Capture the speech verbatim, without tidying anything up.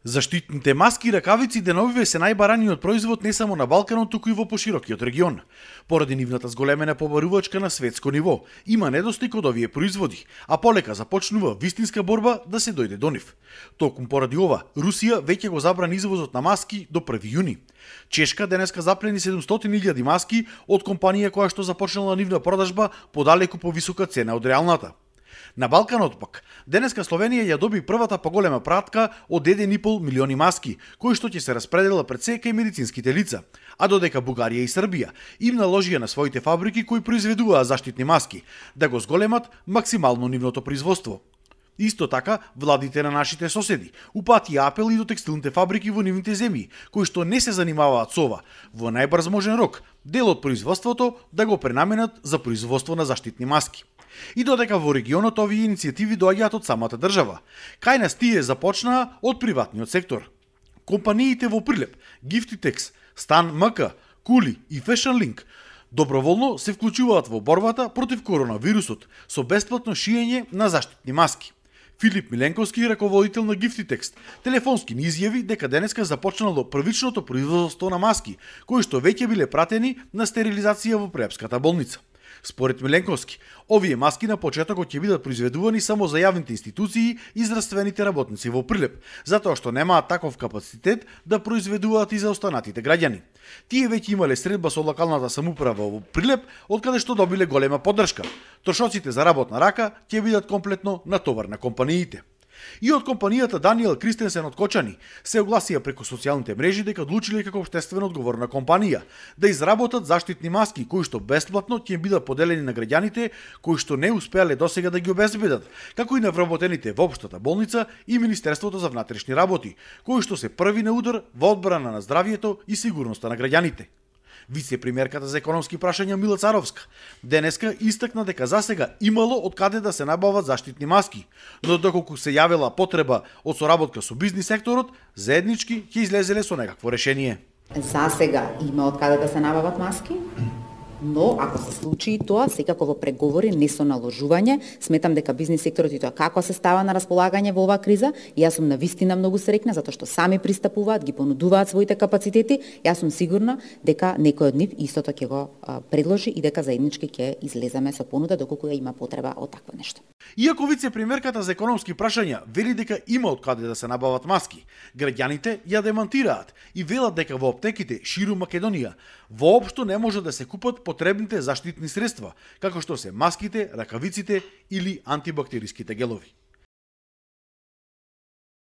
Заштитните маски и ракавици деновиве се најбараниот производ не само на Балканот, туку и во поширокиот регион. Поради нивната зголемена побарувачка на светско ниво, има недостиг од овие производи, а полека започнува вистинска борба да се дојде до нив. Токму поради ова, Русија веќе го забрани извозот на маски до први јуни. Чешка денеска заплени седумстотини илјади маски од компанија која што започнала нивна продажба по далеку повисока цена од реалната. На Балканот пак, денеска Словенија ја доби првата поголема пратка од еден и пол милиони маски, кои што ќе се распределат пред се кај медицинските лица, а додека Бугарија и Србија им наложија на своите фабрики кои произведуваат заштитни маски да го зголемат максимално нивното производство. Исто така, владите на нашите соседи упатија апел и до текстилните фабрики во нивните земји, кои што не се занимаваат со ова, во најбрз можен рок, дел од производството да го пренаменат за производство на заштитни маски. И додека во регионот овие иницијативи доаѓаат од самата држава, кај нас тие започнаа од приватниот сектор. Компаниите во Прилеп, Giftitex, Stan МК, Кули и Fashion Link доброволно се вклучуваат во борбата против коронавирусот со бесплатно шиење на заштитни маски. Филип Миленковски, раководител на Giftitex, телефонски ни изјави дека денеска започнало првичното производство на маски, кои што веќе биле пратени на стерилизација во Преапската болница. Според Миленковски, овие маски на почетокот ќе бидат произведувани само за јавните институции и здравствените работници во Прилеп, затоа што немаат таков капацитет да произведуваат и за останатите граѓани. Тие веќе имале средба со локалната самоуправа во Прилеп, од каде што добиле голема поддршка. Трошоците за работна рака ќе бидат комплетно на товар на компаниите. И од компанијата Даниел Кристенсен од Кочани се огласија преку социјалните мрежи дека одлучиле како општествено одговорна компанија да изработат заштитни маски кои што бесплатно ќе бидат поделени на граѓаните кои што не успеале досега да ги обезбедат, како и на вработените во општата болница и Министерството за внатрешни работи, кои што се први на удар во одбрана на здравието и сигурноста на граѓаните. Вице-премиерката за економски прашања Мила Царовска денеска истакна дека засега имало од каде да се набават заштитни маски, но доколку се јавила потреба од соработка со бизнис секторот, заеднички ќе излезеле со некакво решение. Засега има од каде да се набават маски, но ако се случи тоа, секако во преговори, не со наложување, сметам дека бизнис секторот и тоа како се става на располагање во оваа криза, и јас сум навистина многу среќна затоа што сами пристапуваат, ги понудуваат своите капацитети, јас сум сигурна дека некој од нив истото ќе го а, предложи и дека заеднички ќе излеземе со понуда доколку ја има потреба од такво нешто. Иако вице-премиерката за економски прашања вели дека има од каде да се набават маски, граѓаните ја демантираат и велат дека во аптеките ширум Македонија воопшто не може да се купат потребните заштитни средства, како што се маските, ракавиците или антибактериските гелови.